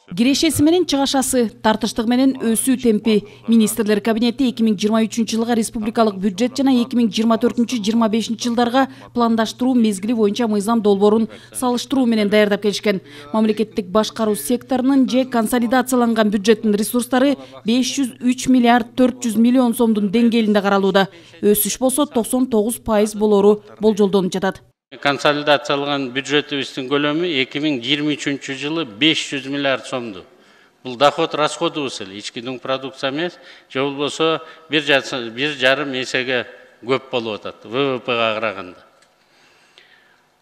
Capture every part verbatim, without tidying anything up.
Кирешеси менен чыгашасы, тартыштыгы менен өсүү темпи. Министрлер кабинети эки миң жыйырма үчүнчү жылга республикалык бюджет жана эки миң жыйырма төртүнчү — жыйырма бешинчи жылдарга пландаштыруу мезгили боюнча мыйзам долбоорун салыштыруу менен даярдап келишкен. Мамлекеттик башкаруу секторунун же консолидацияланган бюджеттин ресурстары беш жүз үч миллиард төрт жүз миллион сомдун деңгээлинде каралууда. Өсүш болсо токсон тогуз пайыз болору болжолдонуп жатат. Консолидацияланган бюджетибиздин көлөмү эки миң жыйырма үчүнчү жылы беш жүз миллиард сомду. Бул доход расходубуз эле, ички дүң продукция эмес, же болбосо бир жарым эсеге көп болуп атат вэ вэ пэга караганда.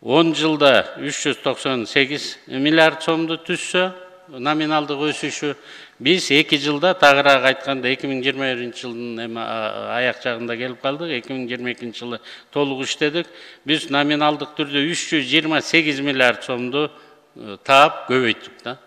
он жылда үч жүз токсон сегиз миллиард сомду түзсө, номиналдык өсүшү, биз эки жылда тагыраак айтканда эки миң жыйырма биринчи жылдын эми аяк жагында келип калдык, эки миң жыйырма экинчи жылы толук иштедик. Биз номиналдык түрдө үч жүз жыйырма сегиз миллиард сомду таап көбөйттүк да.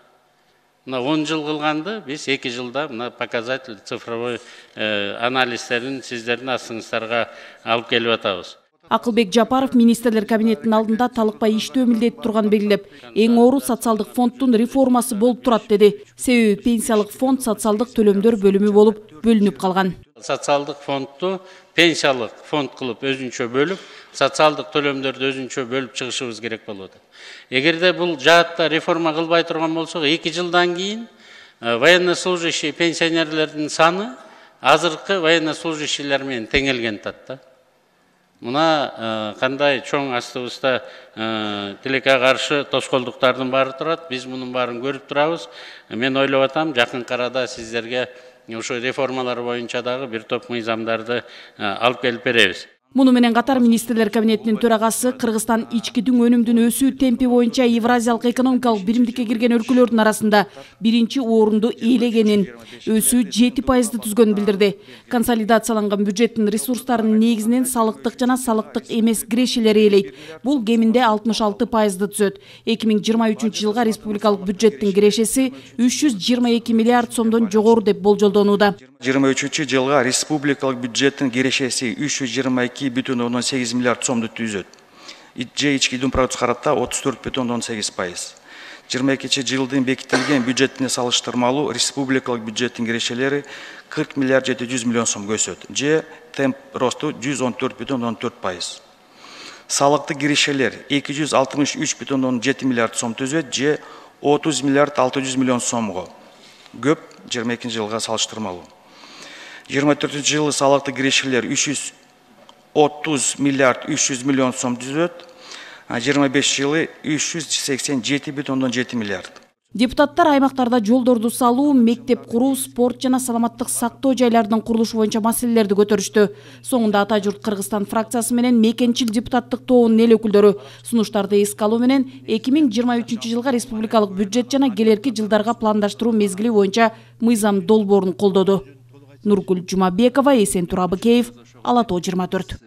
Мына он жыл кылганды биз эки жылда мына показатель цифровой анализдерин сиздердин астыңыздарга алып келип атабыз. Акылбек Жапаров министрлер кабинетинин алдында талыкпай иштөө милдети турганын белгилеп, эң оору социалдык фонддун реформасы болуп турат деди. Себеби пенсиялык фонд социалдык төлөмдөр бөлүмү болуп бөлүнүп калган. Социалдык фондду пенсиялык фонд кылып өзүнчө бөлүп, социалдык төлөмдөрдү өзүнчө бөлүп чыгышыбыз керек болот. Эгерде бул жаатта реформа кылбай турган болсок, эки жылдан кийин военнослужащий пенсионерлердин саны азыркы военнослужащийлер менен теңелген атат. Мына кандай чоң астыбызда тилекке каршы тоскоолдуктардын баары турат. Биз мунун баарын көрүп турабыз. Мен ойлоп атам, жакын арада сиздерге ошо реформалар боюнча дагы бир топ мыйзамдарды алып келип беребиз. Муну менен катар министрлер кабинетинин төрагасы Кыргызстан ички дүң өнүмдүн өсүү темпи боюнча Евразиялык экономикалык биримдикке кирген өлкөлөрдүн арасында биринчи орунду ээлегенин, өсүү жети пайызды түзгөнүн билдирди. Консолидацияланган бюджеттин ресурстарынын негизинен салыктык жана салыктык эмес кирешелер ээлейт. Бул кеминде алтымыш алты пайызды түзөт. эки миң жыйырма үчүнчү жылга республикалык бюджеттин кирешеси үч жүз жыйырма эки миллиард сомдон жогору деп болжолдонууда. жыйырма үчүнчү жылга республикалык бюджеттин кирешеси үч жүз жыйырма эки бүтүн ондон сегиз миллиард сомду түзөт. Же ички дүң продукция каратта отуз төрт бүтүн ондон сегиз пайыз. жыйырма экинчи жылдын бекитилген бюджетине салыштырмалуу республикалык бюджеттин кирешелери кырк миллиард жети жүз миллион сомго өсөт. Же темп росту жүз он төрт бүтүн ондон төрт пайыз. Салыктык кирешелер эки жүз алтымыш үч бүтүн ондон жети миллиард сом түзөт. Же отуз миллиард алты жүз миллион сомго көп жыйырма экинчи жылга салыштырмалуу. жыйырма төртүнчү жылы салыктык кирешелер үч жүз отуз миллиард үч жүз миллион сом түзөт. жыйырма бешинчи жылы үч жүз сексен жети бүтүн ондон жети миллиард. Депутаттар аймактарда жолдорду салуу, мектеп куруу, спорт жана саламаттык сактоо жайларынын курулушу боюнча маселелерди көтөрүштү. Соңунда Ата журт Кыргызстан фракциясы менен мекенчил депутаттык тобунун эл өкүлдөрү сунуштарды эске алуу менен эки миң жыйырма үчүнчү жылга республикалык бюджет жана келерки жылдарга пландаштыруу мезгили боюнча мыйзам долбоорун колдоду. Нургүл Жумабекова, Эсен Турабыкеев, Ала Тоо жыйырма төрт.